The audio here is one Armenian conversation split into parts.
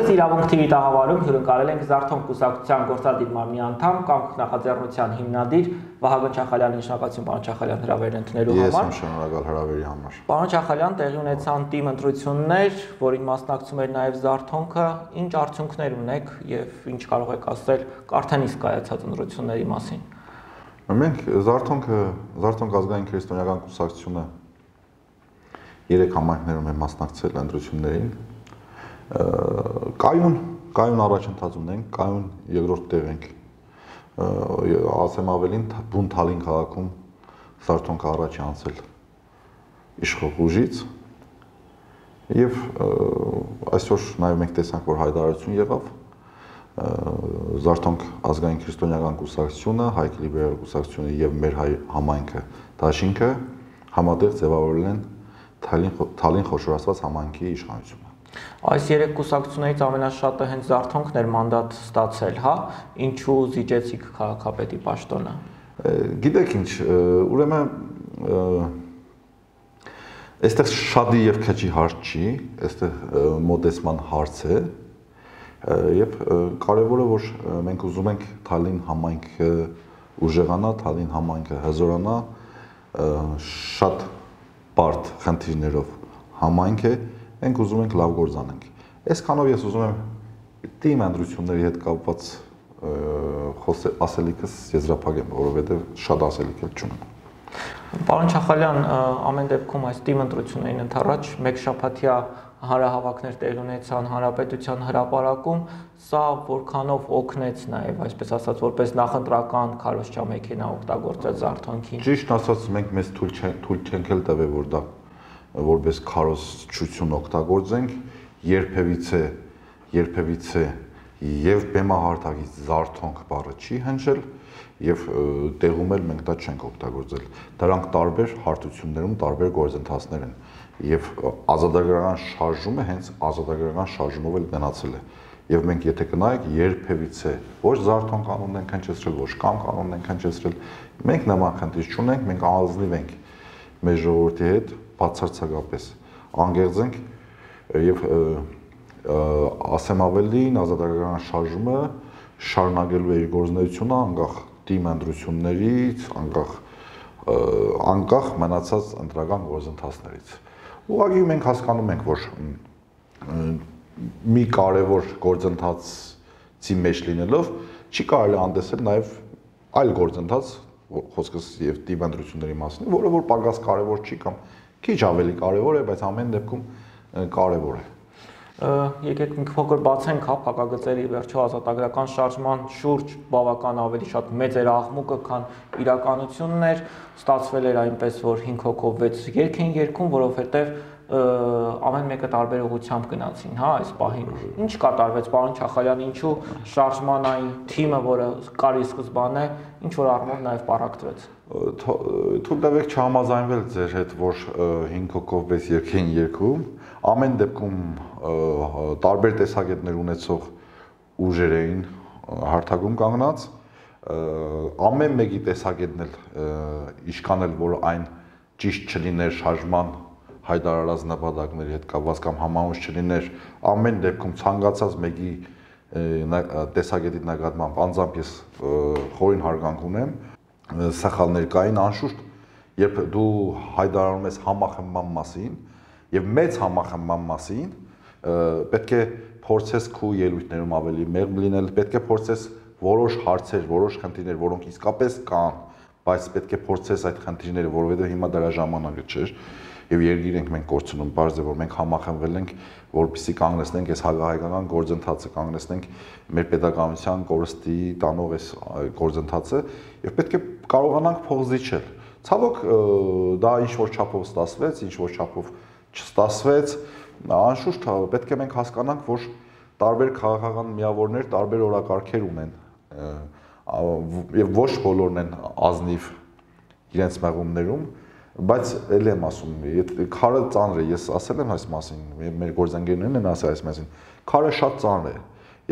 Որպես իրավունք թիմի տաղավարում հյուրընկալել ենք Զարթոնք կուսակցության գործադիր մարմնի անդամ կամ նախաձեռնության հիմնադիր Վահագն Չախալյանի, շնորհակալություն պարոն Չախալյան հրավերն ընդունելու համար։ Ես եմ շնորհակալ հրավերի համար։ Պարոն Չախալյան, տեղի ունեցան թիմ ընտրություններ, որին մասնակցում էր նաև Զարթոնքը, ինչ արդյունքներ ունեք եւ ինչ կարող եք ասել արդեն իսկ կայացած ընտրությունների մասին։ Մենք Զարթոնք ազգային քրիստոնեական կուսակցությունը 3 համայնքներում է մասնակցել ընտրություններին։ Կայուն առաջընթաց ունենք, կայուն երկրորդ տեղ ենք, ասեմ ավելին բուն Թալին քաղաքում Զարթոնքը առաջ է անցել իշխող ուժից եւ այսօր նաեւ մենք տեսանք, որ հայտարարություն եղավ Զարթոնք ազգային քրիստոնեական կուսակցությունը, Հայք լիբերալ կուսակցությունը եւ մեր հայ համայնքը Դաշինքը համատեղ ձևավորել են Թալին խոշորացված համայնքի իշխանությունը։ Այս 3 կուսակցություններից ամենաշատը հենց Զարթոնքն էր մանդատ ստացել, հա, ինչու զիջեցիք քաղաքապետի պաշտոնը։ Գիտեք ինչ, ուրեմն այստեղ շատի եւ քչի հարց չի, այստեղ մոտեցման հարց է եւ կարեւորը որ մենք ուզում ենք Թալին համայնքը ուժեղանա, Թալին համայնքը հզորանա, շատ բարդ խնդիրներով համայնք է, մենք ուզում ենք լավ գործ անենք։ Այսքանով ես ուզում եմ թիմ ընտրությունների հետ կապված ասելիքս եզրափակեմ, որովհետեւ շատ ասելիք էլ չունեմ։ Պարոն Չախալյան, ամեն դեպքում այս թիմ ընտրություններին ընդառաջ մեկ շաբաթյա հանրահավաքներ տեղի ունեցան հանրապետության հրապարակում, սա որքանով օգնեց նաև, այսպես ասած, որպես նախընտրական քարոզչա մեքենա օգտագործել Զարթոնքին։ Ճիշտ ասած, մենք մեզ թույլ չենք էլ տվել, որ դա որպես քարոզչություն օգտագործենք, երբևիցե եւ բեմահարթակից Զարթոնք բառը չի հնչել եւ տեղում էլ մենք դա չենք օգտագործել։ Դրանք տարբեր հարթություններում տարբեր գործընթացներ են եւ ազատագրական շարժումը հենց ազատագրական շարժումով էլ գնացել է։ Եվ մենք եթե կնայեք երբևիցե ոչ Զարթոնք կանոնն ենք հնչեցրել, ոչ կամ կանոնն ենք հնչեցրել, մենք նման խնդիր չունենք, մենք ազնիվ ենք մեր ժողովրդի հետ բացարձակապես անգեղծ ենք եւ ասեմ ավելին ազատագրական շարժումը շարունակելու է իր գործունեությունը անկախ թիմ ընտրություններից, անկախ մնացած ընտրական գործընթացներից։ Ուղղակի մենք հասկանում ենք, որ մի կարևոր գործընթացի մեջ լինելով չի կարելի անտեսել նաև այլ գործընթաց, խոսքս եւ թիմ ընտրությունների մասին, որը որ պակաս կարևոր չի կամ քիչ ավելի կարևոր է, բայց ամեն դեպքում կարևոր է։ Եկեք մի փոքր բացենք, հա, փակագծերի վերջո ազատագրական շարժման շուրջ բավական ավելի շատ մեծ էր աղմուկը, քան իրականությունն էր, ստացվել էր այնպես, որ 5 հոգով 6 երգ են երգում, որովհետև ամեն մեկը տարբեր ուղղությամբ գնացին, հա, այս պահին։ Ինչ կատարվեց, պարոն Չախալյան, ինչու շարժման այն թիմը, որը կար ի սկզբանե, ինչ որ առումով նաև պառակտվեց։ Թույլ տվեք չհամաձայնվել ձեր հետ, որ 5 հոգով 6 երգ են երգում, ամեն դեպքում տարբեր տեսակետներ ունեցող ուժեր էին հարթակում կանգնած, ամեն մեկի տեսակետն էլ իշքանել, որ այն ճիշտ չլիներ շարժման հայտարարած նպատակների հետ կապված կամ համահունչ չլիներ, ամեն դեպքում ցանկացած մեկի տեսակետի նկատմամբ անձամբ ես խորին հարգանք ունեմ, սխալներ կային անշուշտ, երբ դու հայտարարում ես համախմբման մասին եւ մեծ համախմբման մասին, պետք է փորձես քու ելույթներում ավելի մեղմ լինել, պետք է փորձես որոշ հարցեր, որոշ խնդիրներ, որոնք իսկապես կան, բայց պետք է փորձես այդ խնդիրները, որովհետեւ հիմա դրա ժամանակը չէր եւ երգիր ենք մենք կորցնում, բարձ է որ մենք համախմբվել ենք, որպեսզի կանգնեցնենք այս հակահայկական գործընթացը, կանգնեցնենք մեր պետականության կորստի տանող այս գործընթացը եւ պետք է կարողանանք փող զիջել։ Ցավոք դա ինչ որ չափով ստացվեց, ինչ որ չափով չստացվեց, անշուշտ պետք է մենք հասկանանք, որ տարբեր քաղաքական միավորներ տարբեր օրակարգեր ունեն եւ ոչ բոլորն են ազնիվ իրենց մեղումներում, բայց էլ եմ ասում, քարը ծանր է, ես ասել եմ այս մասին, մեր գործընկերներն են ասել այս մասին, քարը շատ ծանր է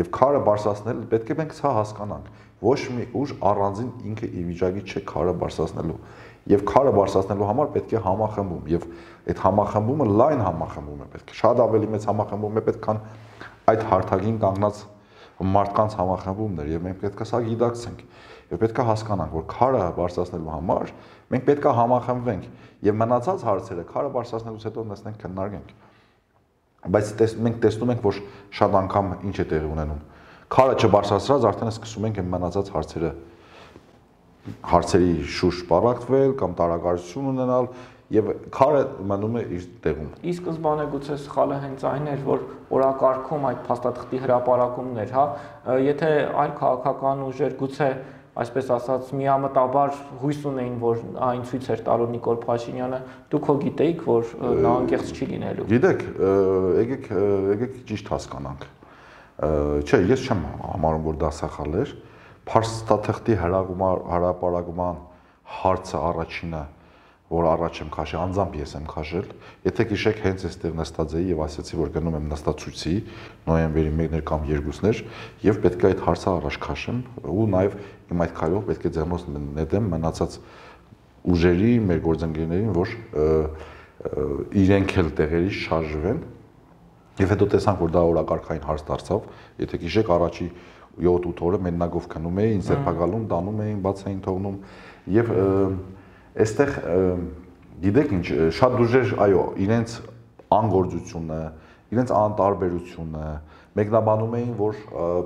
եւ քարը բարձրացնել պետք է մենք սա հասկանանք, ոչ մի ուժ առանձին ինքը ի վիճակի չէ քարը բարձրացնելու եւ քարը բարձրացնելու համար պետք է համախմբում եւ այդ համախմբումը լայն համախմբում է պետք է շատ ավելի մեծ համախմբում է պետք քան այդ հարթակին կանգնած մարդկանց համախմբումներ եւ մենք պետք է սա գիտակցենք եւ պետք է հասկանանք, որ քարը բարձրացնելու համար մենք պետք է համախմբվենք եւ մնացած հարցերը քարը բարձրացնելուց հետո նստենք քննարկենք։ Բայց մենք տեսնում ենք, որ շատ անգամ ինչ է տեղի ունենում։ Քարը չբարձրացրած արդեն սկսում ենք մնացած հարցերի շուրջ պարակտվել կամ տարակարություն ունենալ եւ քարը մնում է իր տեղում։ Ի սկզբանե գուցե սխալը հենց այն էր, որ օրակարգում այդ փաստաթղթի հրապարակումներ, հա, եթե այլ քաղաքական ուժեր գուցե այսպես ասած միամտաբար հույս ունեին, որ այն ցույց էր տալու Նիկոլ Փաշինյանը, դուք հո գիտեիք, որ նա անկեղծ չի լինելու։ Գիտեք, եկեք ճիշտ հասկանանք։ Չէ, ես չեմ համարում, որ դա սխալ էր։ Փաստաթղթի հրապարակման հարցը առաջինը, որ առաջ եմ քաշել, անձամբ ես եմ քաշել։ Եթե գիշեք հենց այստեղ նստած էի եւ ասացի, որ գնում եմ նստացույցի նոյեմբերի 1-ներ կամ 2-ներ եւ պետք է այդ հարցը առաջ քաշեմ ու նաեւ իմ այդ քայլով պետք է ձեռնոց նետեմ մնացած ուժերի, մեր գործընկերներին, որ իրենք էլ տեղերի շարժվեն։ Եվ հետո տեսանք, որ դա օրակարգային հարց դարձավ։ Եթե գիշեք առաջի 7-8 օրը մեննագով քնում էին, ինձ սերբակալում, տանում էին, բաց էին թողնում եւ այստեղ գիտեք ինչ, շատ ուժեր, այո, իրենց անգործությունը, իրենց անտարբերությունը մեկնաբանում էին, որ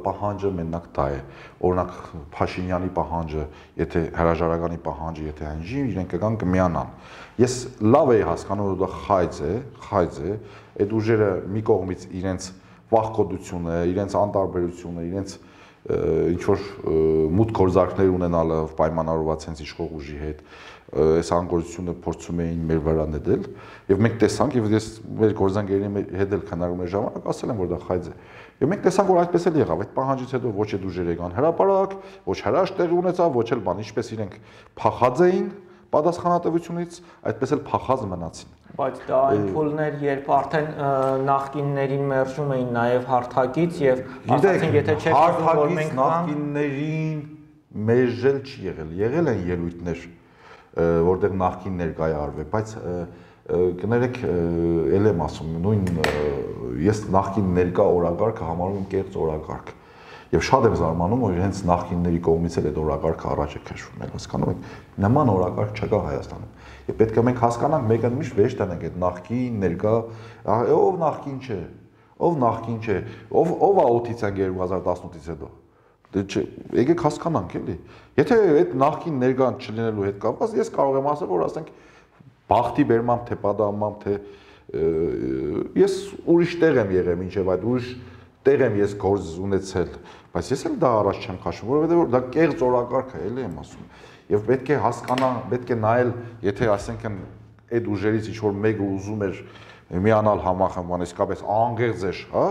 պահանջը մենակ դա է։ Օրինակ Փաշինյանի պահանջը, եթե հրաժարականի պահանջը, եթե հնչի, իրենք կգան կմիանան։ Ես լավ էի հասկանում, որ դա խայծ է, այդ ուժերը մի կողմից իրենց վախկոտությունը, իրենց անտարբերությունը, իրենց ինչ որ մութ գործարքներ ունենալը պայմանավորված հենց իշխող ուժի հետ, այս անգործությունը փորձում էին մեր վրա նետել եւ մենք տեսանք եւ ես մեր գործընկերների հետ էլ քննարկումների ժամանակ ասել եմ, որ դա խայծ է։ Եվ մենք տեսանք, որ այդպես էլ եղավ, այդ պահանջից հետո ոչ այդ ուժերը եկան հրապարակ, ոչ հրաշք տեղի ունեցավ, ոչ էլ բան, ինչպես իրենք փախած էին պատասխանատվությունից, այդպես էլ փախած մնացին։ Բայց դա այն փուլներ, երբ արդեն նախկիններին մերժում էին նաև հարթակից եւ ասացին, եթե չեք ուզում, որ մենք նախկիններին մերժել չի եղել են ելույթներ, որտեղ նախկին ներկայարվել, բայց կներեք, ել եմ ասում, նույն ես նախկին ներկա օրակարգը համարում եմ կեղծ օրակարգ։ Եվ շատ եմ զարմանում, որ հենց նախկինների կողմից էլ այդ օրակարգը առաջ է քաշվում, հասկանում եք, նման օրակարգ չկա Հայաստանում։ Եվ պետք է մենք հասկանանք, մեկը միշտ վեր տանենք այդ նախկին, ներկա, ով նախկին չէ, ով է 8-ից 2018-ից հետո։ Եկեք հասկանանք էլի։ Եթե այդ նախկին ներկան չլինելու հետ կապված, ես կարող եմ ասել, որ ասենք բախտի բերմամբ, թե պատահմամբ, թե ես ուրիշ տեղ եմ եղել, մինչև այդ ուրիշ տեղ եմ ես գործ ունեցել, բայց ես էլ դա առաջ չեմ քաշում, որովհետև դա կեղծ օրակարգ է, էլի եմ ասում։ Եվ պետք է հասկանալ, պետք է նայել, եթե ասենք այդ ուժերից ինչ որ մեկը ուզում էր միանալ համախմբման, իսկապես անգեղծ էր, հա,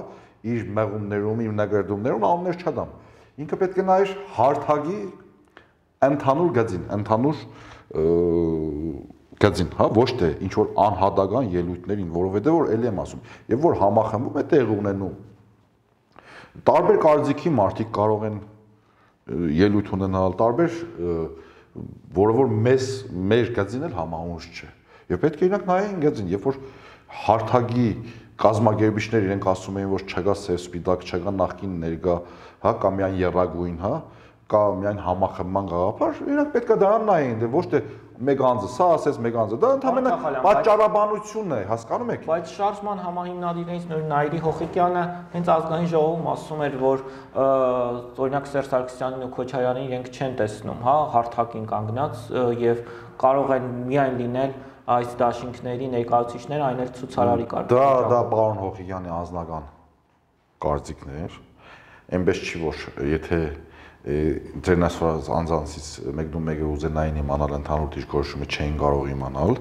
իր մեղումներում, իր նկարդումներում անուններ չդամ։ Ինքը պետք է նայեր հարթակի ընդհանուր գծին, հա, ոչ թե ինչ որ անհատական ելույթներին, որովհետև որ էլի եմ ասում, եւ որ համախմբում է տեղ ունենում։ Տարբեր կարծիքի մարդիկ կարող են ելույթ ունենալ, տարբեր, որը որ մեր գծին էլ համահունչ չէ։ Եվ պետք է իրանք նայեն գծին, երբ որ հարթակի կազմակերպիչներ իրենք ասում էին, որ չկա սև սպիտակ, չկա նախկին ներկա, հա, կամ միայն եռագույն, հա, կամ միայն համախմբման գաղափար, իրանք պետք է դրան նայեն, դե ոչ թե մեկ անձը սա ասես, մեկ անձը դա ընդհանրապես պատճառաբանությունն է, հասկանում եք։ Բայց շարժման համահիմնադիրներից նույն Նայիրի Հոխիկյանը հենց ազգային ժողովում ասում էր, որ օրինակ Սերժ Սարգսյանին ու Քոչարյանին իրենք չեն տեսնում, հա, հարթակին կանգնած եւ կարող են միայն լինել այս դաշինքների ներկայացուցիչները, այն էլ ցուցարարի կարգի։ Դա պարոն Հոխիկյանի անձնական կարծիքն էր, այնպես չի որ եթե ձերն ասված անձանցից մեկը ուզենային իմանալ ընդհանուր դիրքորոշումը չէին կարող իմանալ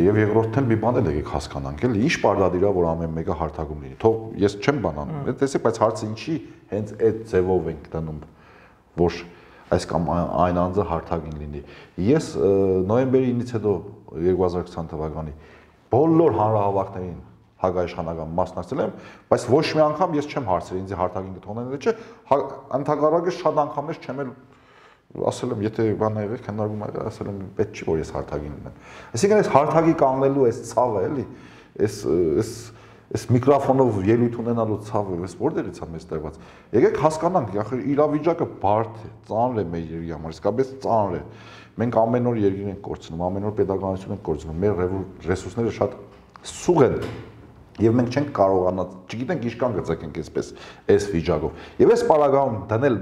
եւ երկրորդն էլ մի բան էլ եկեք հասկանանք էլի ինչ պարտադիր է որ ամեն մեկը հարթակում լինի թող ես չեմ բանանում տեսեք բայց հարցը ինչի հենց այդ ձևով ենք դնում որ այս կամ այն անձը հարթակին լինի ես նոյեմբերի 9-ից հետո 2020 թվականի բոլոր հանրահավաքներին հակաիշխանական մասնակցել եմ, բայց ոչ մի անգամ ես չեմ հարցրել ինձ հարթակին կթողնել չէ, ընդհակառակը շատ անգամներ չեմ էլ ասել եմ, եթե բան եղել քննարկում եղել, ասել եմ, պետք չի որ ես հարթակին լինեմ։ Այսինքն այս հարթակի կանգնելու այս ցավը էլի, այս Այս միկրոֆոնով ելույթ ունենալու ցավը, այս որտեղից է մեզ տրված։ Եկեք հասկանանք, ախր իրավիճակը բարդ է, ծանր է մեր երկրի համար, իսկապես ծանր է։ Մենք ամեն օր երկիր ենք կորցնում, ամեն օր պետականություն ենք կորցնում, մեր ռեսուրսները շատ սուղ են։ Եվ մենք չենք կարողանա, չգիտենք ինչքան գծենք այսպես այս վիճակով։ Եվ այս պարագայում դնել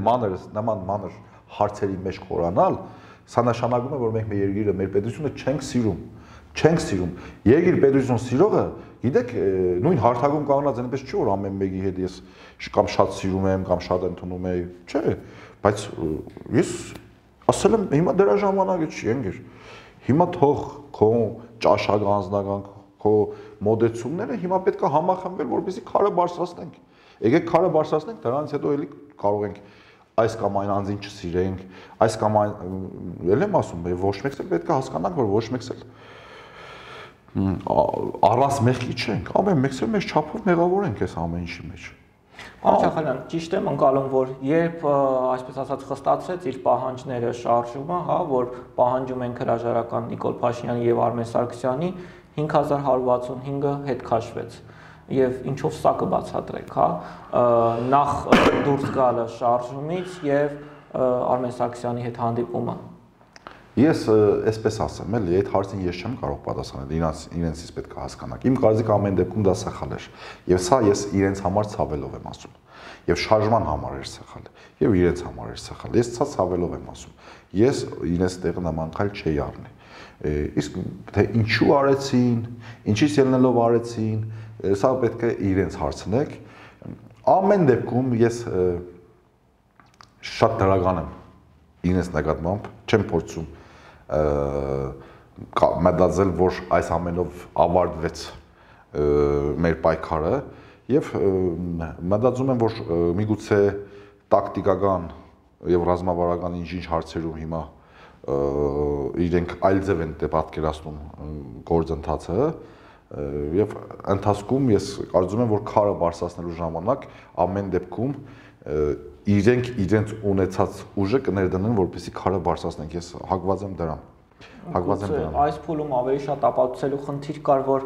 նման մանր հարցերի մեջ խորանալ, սա նշանակում է, որ մենք մեր երկիրը, մեր պետությունը չենք սիրում։ Չենք սիրում։ Երկիր պետություն սիրողը, գիտեք, նույն հարթակում կանգնած այնպես չի, որ ամեն մեկի հետ ես կամ շատ սիրում եմ, կամ շատ ընդունում եմ, չէ, բայց ես ասել եմ, հիմա դրա ժամանակը չի, ընկեր։ Հիմա թող քո ճաշակ անձնական քո մոդեցումները հիմա պետք է համախմբել, որպեսզի քարը բարձրացնենք։ Եկեք քարը բարձրացնենք, դրանից հետո էլի կարող ենք այս կամ այն անձին չսիրենք, այս կամ այն, էլ եմ ասում, ոչ մեկս էլ պետք է հասկանանք, որ ոչ մեկս էլ առանց մեղքի չենք, ամեն մեկս էլ մեր չափով մեղավոր ենք այս ամեն ինչի մեջ։ Պարոն Շախալյան, ճիշտ եմ ընկալում, որ երբ այսպես ասած խստացրեց իր պահանջները շարժումը, հա, որ պահանջում են հրաժարական Նիկոլ Փաշինյանի եւ Արմեն Սարգսյանի 5165-ը հետ քաշվեց։ Եվ ինչով սա կբացատրեք, հա, նախ դուրս գալը շարժումից եւ Արմեն Սարգսյանի հետ հանդիպումը։ Ես այսպես ասեմ, էլի այդ հարցին ես չեմ կարող պատասխանել, իրենցից պետք է հասկանաք։ Իմ կարծիքը ամեն դեպքում դա սխալ էր։ Եվ սա ես իրենց համար ցավելով եմ ասում։ Եվ շարժման համար էր սխալ, եւ իրենց համար էր սխալ։ Ես սա ցավելով եմ ասում։ Ես իրենց տեղը նման քայլ չէի առնի։ Իսկ թե ինչու արեցին, ինչից ելնելով արեցին, սա պետք է իրենց հարցնեք։ Ամեն դեպքում ես շատ դրական եմ իրենց նկատմամբ, չեմ փորձում մտածել, որ այս ամենով ավարտվեց մեր պայքարը եւ մտածում եմ, որ միգուցե տակտիկական եւ ռազմավարական ինչ-ինչ հարցերում հիմա իրենք այլ ձև են պատկերացնում գործընթացը եւ ընթացքում ես կարծում եմ, որ քարը բարձրացնելու ժամանակ ամեն դեպքում իրենք իրենց ունեցած ուժը կներդնեն, որպեսզի քարը բարձրացնենք։ Ես հակված եմ դրան։ Այս փուլում ավելի շատ ապացուցելու խնդիր կար, որ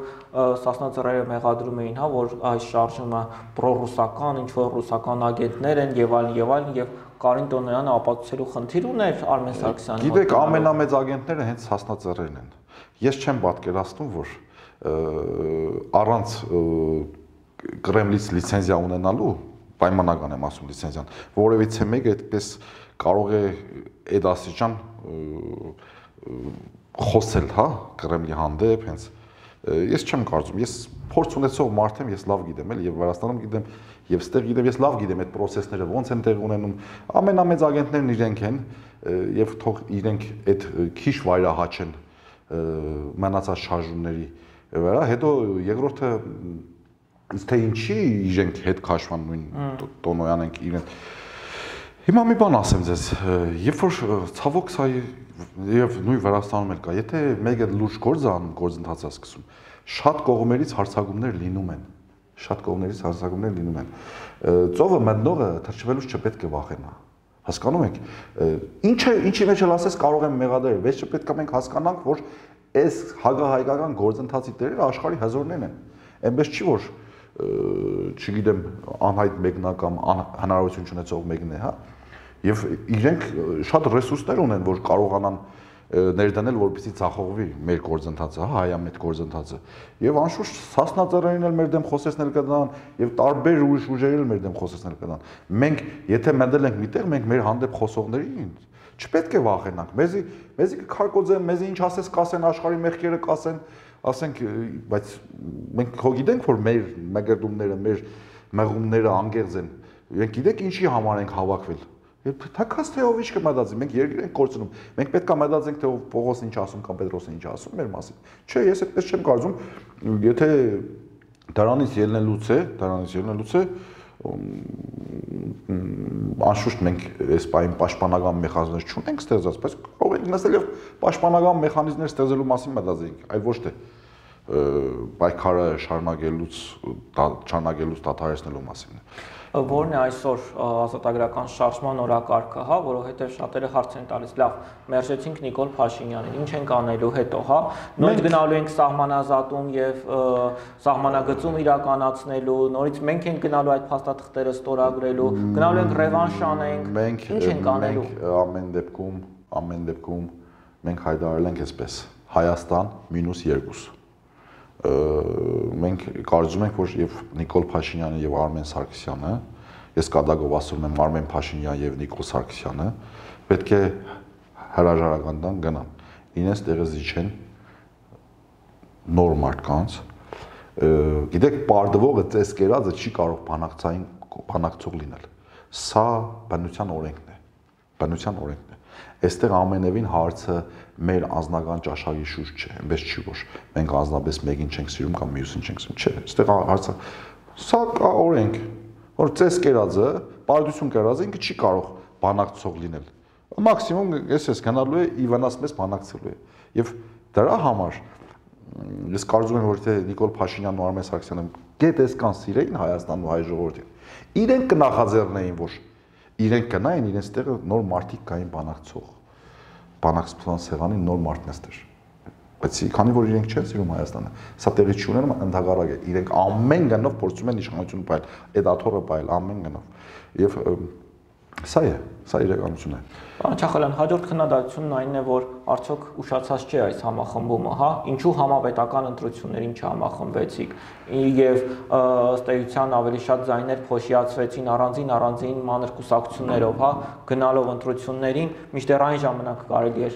Սասնա ծռերը մեղադրում էին, հա, որ այս շարժումը պրոռուսական, ինչ որ ռուսական ագենտներ են եւ այլն եւ Կարին Տոնոյանը ապացուցելու խնդիր ուներ Արմեն Սարգսյանի։ Գիտեք, ամենամեծ ագենտները հենց Սասնա ծռերն են։ Ես չեմ պատկերացնում, որ առանց Կրեմլից լիցենզիա ունենալու պայմանական եմ ասում լիցենզիան, որևիցե մեկը այդպես կարող է այդ աստիճան խոսել, հա, Կրեմլի հանդեպ, հենց ես չեմ կարծում, ես փորձ ունեցող մարդ եմ, ես լավ գիտեմ, էլ եւ Վրաստանում գիտեմ, եւ ստեղ գիտեմ, ես լավ գիտեմ այդ process-ները ոնց են տեղ ունենում, ամենամեծ ագենտներն իրենք են եւ թող իրենք այդ քիչ վայրահաչեն մնացած շարժումների վրա, հետո երկրորդը Իսկ թե ինչի իրենք հետ քաշվան նույն Տոնոյան ենք իրեն։ Հիմա մի բան ասեմ ձեզ, երբ որ ցավոք սա եւ նույն Վրաստանում էլ կա, եթե մեկը լուրջ գործ է անում, գործընթաց է սկսում, շատ կողմերից հարցակումներ լինում են։ Շատ կողմերից հարցակումներ լինում են։ Ծովը մտնողը թրջվելուց չպետք է վախենա։ Հասկանում եք։ Ինչի մեջ էլ ասես կարող եմ մեղադրել, բայց պետք է մենք հասկանանք, որ այս հագահայկական գործընթացի տերերը աշխարհի հզորներն են։ Այնպես չի որ չգիտեմ անհայտ մեկնա կամ հնարավորություն չունեցող մեկն է, հա։ Եվ իրենք շատ ռեսուրսներ ունեն, որ կարողանան ներդնել, որպեսզի ցախողվի մեր գործընթացը, հա, հայամետ գործընթացը։ Եվ անշուշտ Սասնա ծռերին էլ մեր դեմ խոսեցնել կդան, եւ տարբեր ուրիշ ուժերին էլ մեր դեմ խոսեցնել կդան։ Մենք եթե մտել ենք միտեղ, մենք մեր հանդեպ խոսողներին չպետք է վախենանք։ Մեզի կքարկոծեն, մեզի ինչ ասես կասեն, աշխարհի մեղքերը կասեն, ասենք, բայց մենք հո գիտենք, որ մեր մեղրդումները, մեր մեղումները անգերձ են։ Մենք գիտենք ինչի համար ենք հավաքվել։ Թաքած թե ով ինչ կմտածի, մենք երկիր ենք կորցնում։ Մենք պետք է մտածենք, թե ով Պողոսն ինչ ասում կամ Պետրոսն ինչ ասում մեր մասին։ Չէ, ես այդպես չեմ կարծում, եթե դրանից ելնելուց է, անշուշտ մենք այս պահին պաշտպանական մեխանիզմներ չունենք ստեղծած, բայց կարող ենք նստել եւ պաշտպանական մեխանիզմներ ստեղծելու մասին մտածենք, այլ ոչ թե պայքարը շարունակելուց դադարեցնելու մասին։ Որն է այսօր ազատագրական շարժման օրակարգը, հա, որովհետև շատերը հարց են տալիս, լավ, մերժեցինք Նիկոլ Փաշինյանին, ինչ ենք անելու հետո, հա, նորից գնալու ենք սահմանազատում եւ սահմանագծում իրականացնելու, նորից մենք ենք գնալու այդ փաստաթղթերը ստորագրելու, գնալու ենք ռևանշ անենք, ինչ ենք անելու։ Ամեն դեպքում մենք հայտարարել ենք այսպես. Հայաստան -2։ Մենք կարծում ենք, որ եւ Նիկոլ Փաշինյանը եւ Արմեն Սարգսյանը, ես կադագով ասում եմ Արմեն Փաշինյան եւ Նիկոլ Սարգսյանը, պետք է հրաժարական տան գնան։ Ինձ տեղը զիջեն նոր մարդկանց։ Գիտեք, պարտվողը ծես կերածը չի կարող բանակցող լինել։ Սա բնության օրենքն է։ Բնության օրենքն է։ Այստեղ ամենևին հարցը մեր անձնական ճաշակի շուրջ չէ, այնպես չի որ մենք անձնապես մեկին չենք սիրում կամ մյուսին չենք սիրում, չէ, այստեղ հարցը սա կա օրենք, որ ծես կերածը, պարտություն կերածը ինքը չի կարող բանակցող լինել։ Մաքսիմում ես գնալու է ի վնաս մեզ բանակցելու է։ Եվ դրա համար ես կարծում եմ, որ թե Նիկոլ Փաշինյանն ու Արմեն Սարգսյանը գետ էսքան սիրեին Հայաստանն ու հայ ժողովրդին, իրենք կնախաձեռնեին, որ իրենք գնային, իրենց տեղը նոր մարդիկ կային բանակցող։ Բանակցության սեղանին նոր մարդն էստեր։ Բայց քանի որ իրենք չեն սիրում Հայաստանը, սա տեղի չունենում, ընդհակառակ է, իրենք ամեն գնով փորձում են իշխանություն պայել, այդ աթոռը պայել ամեն գնով։ Եվ սա է, սա իրականություն է։ Պարոն Չախալյան, հաջորդ քննադատությունն այն է, որ արդյոք ուշացած չէ այս համախմբումը, հա, ինչու համապետական ընտրություններին չհամախմբվեցիք, եւ ըստ էության ավելի շատ ձայներ փոշիացվեցին առանձին մանր կուսակցություններով, հա, գնալով ընտրություններին, մինչդեռ այն ժամանակ կարելի էր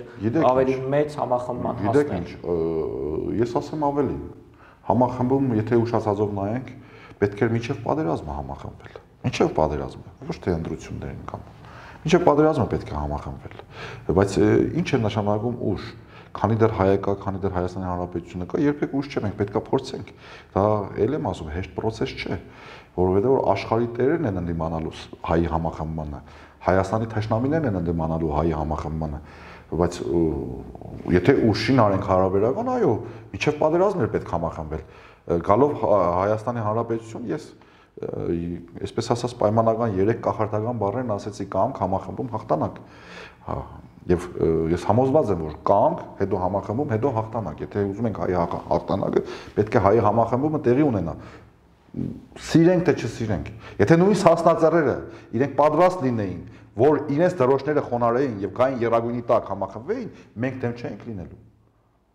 ավելի մեծ համախմբման հասնել։ Գիտեք ինչ, ես ասեմ ավելին, համախմբում, եթե ուշացածով նայենք, պետք էր մինչև պատերազմը համախմբվել։ Մինչև պատերազմը, ոչ թե ընտրություններին կամ մինչև պատերազմը պետք է համախմբվել, բայց ինչ է նշանակում ուշ, քանի դեռ հայկա, քանի դեռ Հայաստանի Հանրապետությունը կա, երբեք ուշ չէ, մենք պետք է փորձենք, դա ել եմ ասում, հեշտ process չէ, որովհետև որ աշխարհի տերերն են ընդդիմանալու հայի համախմբմանը, Հայաստանի թշնամիներն են ընդդիմանալու հայի համախմբմանը, բայց եթե ուշին արենք հարաբերական, այո, մինչև պատերազմն էր պետք համախմբվել, գալով Հայաստանի Հանրապետություն ես այսպես ասած պայմանական 3 կախարդական բառերն ասեցի կամք, համախմբում, հաղթանակ։ Եվ ես համոզված եմ, որ կամք, հետո համախմբում, հետո հաղթանակ։ Եթե ուզում ենք հայի հաղթանակը, պետք է հայի համախմբումը տեղի ունենա։ Սիրենք թե չսիրենք։ Եթե նույնիսկ հասնածառերը իրենք պատրաստ լինեին, որ իրենց դրոշները խոնարհեին եւ գային Եռագույնի տակ համախմբվեին, մենք դեմ չենք լինելու։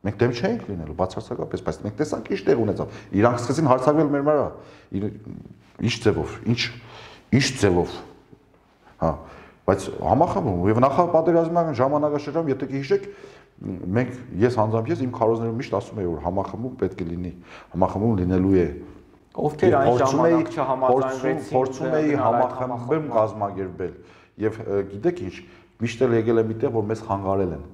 Մենք դեմ չենք լինելու, բացարձակապես, բայց մենք տեսանք ինչ տեղ ունեցավ։ Իրանք սկսեցին հարձակվել մեր վրա։ Ինչ ձևով, ինչ ձևով։ Հա, բայց համախմբում եւ նախապատերազմական ժամանակաշրջանում, եթե հիշեք, մենք ես անձամբ իմ քարոզներում միշտ ասում եի, որ համախմբում պետք է լինի, համախմբում լինելու է։ Ովքեր այն ժամանակ չհամաձայնվեցին, փորձում էի համախմբում կազմակերպել եւ գիտեք ինչ, միշտ էլ եկել է միտեղ, որ մեզ խանգարել են։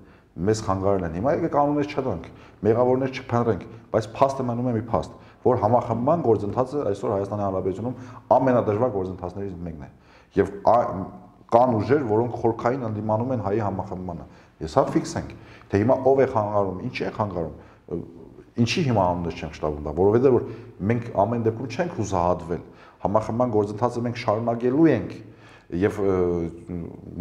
Մեզ խանգարել են։ Հիմա եկեք կանոններ չդրանք, մեղավորներ չփնտրենք, բայց փաստը մնում է մի փաստ, որ համախմբման գործընթացը այսօր Հայաստանի Հանրապետությունում ամենադժվար գործընթացներից մեկն է։ Եվ կան ուժեր, որոնք խորքային ընդդիմանում են հայի համախմբմանը։ Ես հա ֆիքսենք, թե հիմա ով է խանգարում, ինչի է խանգարում, ինչի հիմա անուններ չենք շտապում դա, որովհետև որ մենք ամեն դեպքում չենք հուսահատվել։ Համախմբման գործընթացը մենք շարունակելու ենք եւ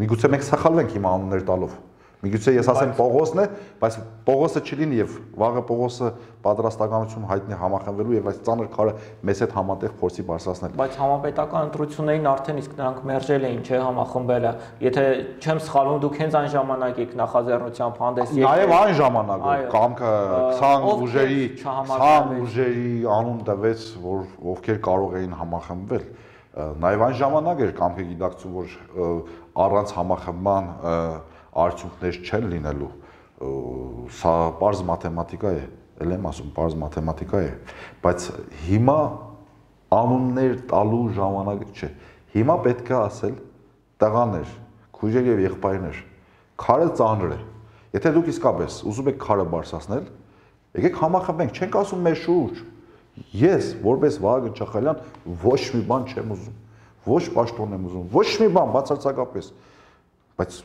միգուցե մենք սխալվենք հիմա անուններ տալով։ Միգուցե ես ասեմ Պողոսն է, բայց Պողոսը չլինի եւ վաղը Պողոսը պատրաստականություն հայտնի համախմբվելու եւ այս ծանր քարը մեզ հետ համատեղ փորձի բարձրացնել։ Բայց համապետական ընտրություններին արդեն իսկ նրանք մերժել էին, չէ, համախմբելը։ Եթե չեմ սխալվում, դուք հենց այն ժամանակ եք նախաձեռնությամբ հանդես եկել։ Նաեւ այն ժամանակ կամքը 20 ուժերի անուն տվեց, որ ովքեր կարող էին համախմբվել։ Նաեւ այն ժամանակ էր կամքը գիտակցում, որ առանց համախմբման արդյունքներ չեն լինելու, սա պարզ մաթեմատիկա է, էլ եմ ասում, պարզ մաթեմատիկա է, բայց հիմա անուններ տալու ժամանակը չէ, հիմա պետք է ասել տղաներ, քույրեր եւ եղբայրներ, քարը ծանր է, եթե դուք իսկապես ուզում եք քարը բարձրացնել, եկեք համախմբենք, չենք ասում մեր շուրջ, ես որպես Վահագն Չախալյան ոչ մի բան չեմ ուզում, ոչ պաշտոն եմ ուզում, ոչ մի բան բացարձակապես, բայց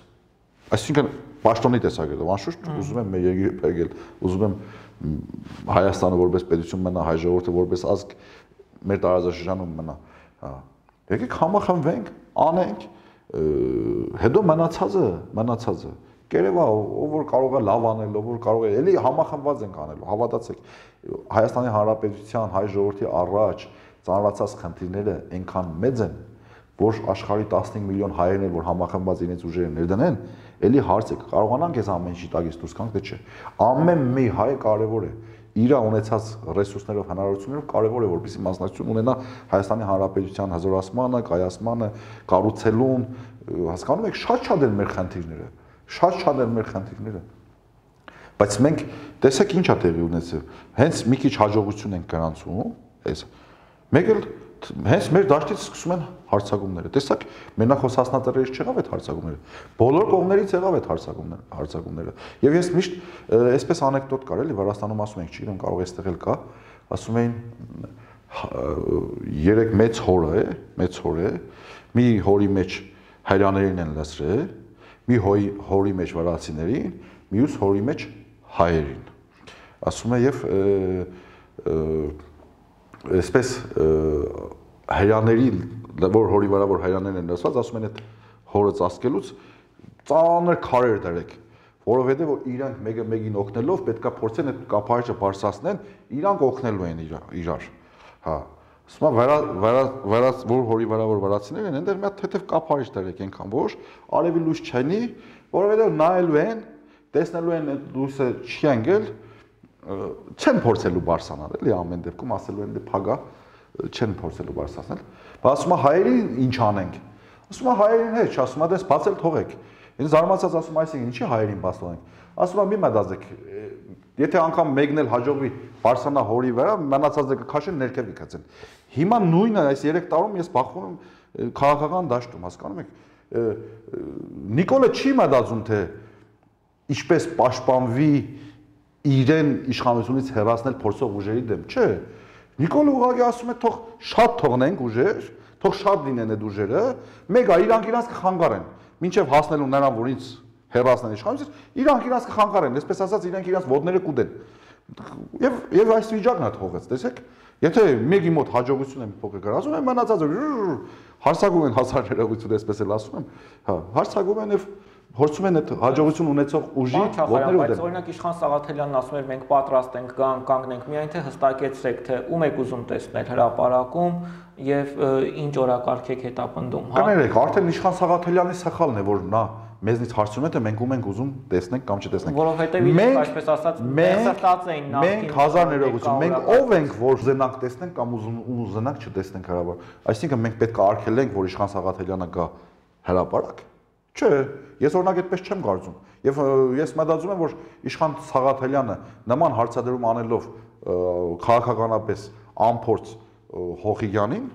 այսինքն պաշտոնի տեսակետով անշուշտ ուզում եմ մեր երկիրը փրկել, ուզում եմ Հայաստանը որպես պետություն մնա, հայ ժողովուրդը որպես ազգ մեր տարածաշրջանում մնա, Եկեք համախմբվենք, անենք, հետո մնացածը կերևա ով որ կարող է լավ անել, ով որ կարող է, էլի համախմբված ենք անելու, հավատացեք, Հայաստանի Հանրապետության հայ ժողովրդի առաջ ծանրացած խնդիրները այնքան մեծ են, որ աշխարհի 15 միլիոն հայերն էլ որ համախմբված իրենց ուժերը ներդնեն, էլի հարց է, կարողանանք այս ամեն ինչի տակից դուրս գանք, թե չէ։ Ամեն մի հայ կարևոր է իր ունեցած ռեսուրսներով, հնարավորություններով կարևոր է որպեսզի մասնակցություն ունենա Հայաստանի Հանրապետության հզորացմանը, կայացմանը, կառուցելուն, հասկանում եք, շատ են մեր խնդիրները, շատ են մեր խնդիրները։ Բայց մենք տեսեք ինչ է տեղի ունեցել։ Հենց մի քիչ հաջողություն ենք գրանցում, այս։ Մեկ էլ հենց մեր դաշտից սկսում են հարցակումները։ Տեսակ, մենախոս հասնածերից չեղավ այդ հարցակումները։ Բոլոր կողմերից եղավ այդ հարցակումները։ Եվ ես միշտ այսպես անեկդոտ կար, էլի Վրաստանում ասում ենք, չգիտեմ, կարող է այստեղ էլ կա, ասում էին 3 մեծ հոր է, մի հորի մեջ հայրաներին են լցրել, մի հորի մեջ վրացիներին, մյուս հորի մեջ հայերին։ Ասում է եւ այսպես հայրաների որ հորի վրա որ հայրաներն են լցված, ասում են այդ հորը ծածկելուց ծանր քարեր դրեք, որովհետեւ որ իրանք մեկը մեկին օգնելով պետքա փորձեն այդ կափարիչը բարձրացնեն, իրանք օգնելու են իրար։ Հա։ Ասում որ հորի վրա որ վրացիներ են, այնտեղ մի հատ թեթև կափարիչ դրեք այնքան, որ արևի լույս չենի, որովհետեւ նայելու են, տեսնելու են այդ լույսը չի անգել, չեն փորձելու բարձրանալ, էլի ամեն դեպքում ասելու են դե փագա, չեն փորձելու բարձրացնել։ Բայց ասում է հայերին ինչ անենք։ Ասում է հայերին հետ, ասում է դες բացել թողեք։ Ինձ զարմացած ասում այսինքն ինչի հայերին բաց թողենք։ Ասում է մի մտածեք, եթե անգամ մեկն էլ հաջողվի բարձրանա հորի վրա, մնացածը կքաշեն ներքև կգցեն։ Հիմա նույնը այս 3 տարում ես բախվում եմ քաղաքական դաշտում, հասկանում եք։ Նիկոլը չի մտածում թե ինչպես պաշտպանվի իրեն իշխանությունից հեռացնել փորձող ուժերի դեմ, չէ։ Նիկոլը ուղղակի ասում է թող շատ թողնենք ուժեր, թող շատ լինեն այդ ուժերը, մեկը իրանք իրանք կխանգարեն, մինչև հասնելու նրան, որ ինձ հեռացնեն իշխանությունից, իրանք իրանք կխանգարեն, այսպես ասած իրանք իրանք ոտները կուտեն։ Եվ այս վիճակն է թողեց, տեսեք։ Եթե մեկի մոտ հաջողություն է փոքր գրանցում են, մնացածը հարցակում են հասար ներողություն, այսպես էլ ասում եմ, հա, հարցակում են եւ փորձում են այդ հաջողություն ունեցող ուժի ոտները ուտել։ Բայց օրինակ Իշխան Սաղաթելյանն ասում էր մենք պատրաստ ենք կանգնենք, միայն թե հստակեցրեք թե ում եք ուզում տեսնել հրապարակում եւ ինչ օրակարգ եք հետապնդում, հա։ Կներեք, արդեն Իշխան Սաղաթելյանի սխալն է, որ նա մեզնից հարցում է թե մենք ում ենք ուզում տեսնենք կամ չտեսնենք։ Որովհետեւ ինչ այսպես ասած մերսրտած էին նախքին։ Մենք հազար ներողություն, մենք ով ենք որ ուզենանք տեսնենք կամ ուզենանք չտեսնենք հրապարակ։ Այսինքն մենք պետք է արգելենք, որ Իշխան Սաղաթելյանը գա հրապարակ։ Չէ, ես օրինակ այդպես չեմ կարծում։ Եվ ես մտածում եմ, որ Իշխան Սաղաթելյանը նման հարցադրում անելով քաղաքականապես անփորձ Հոխիյանին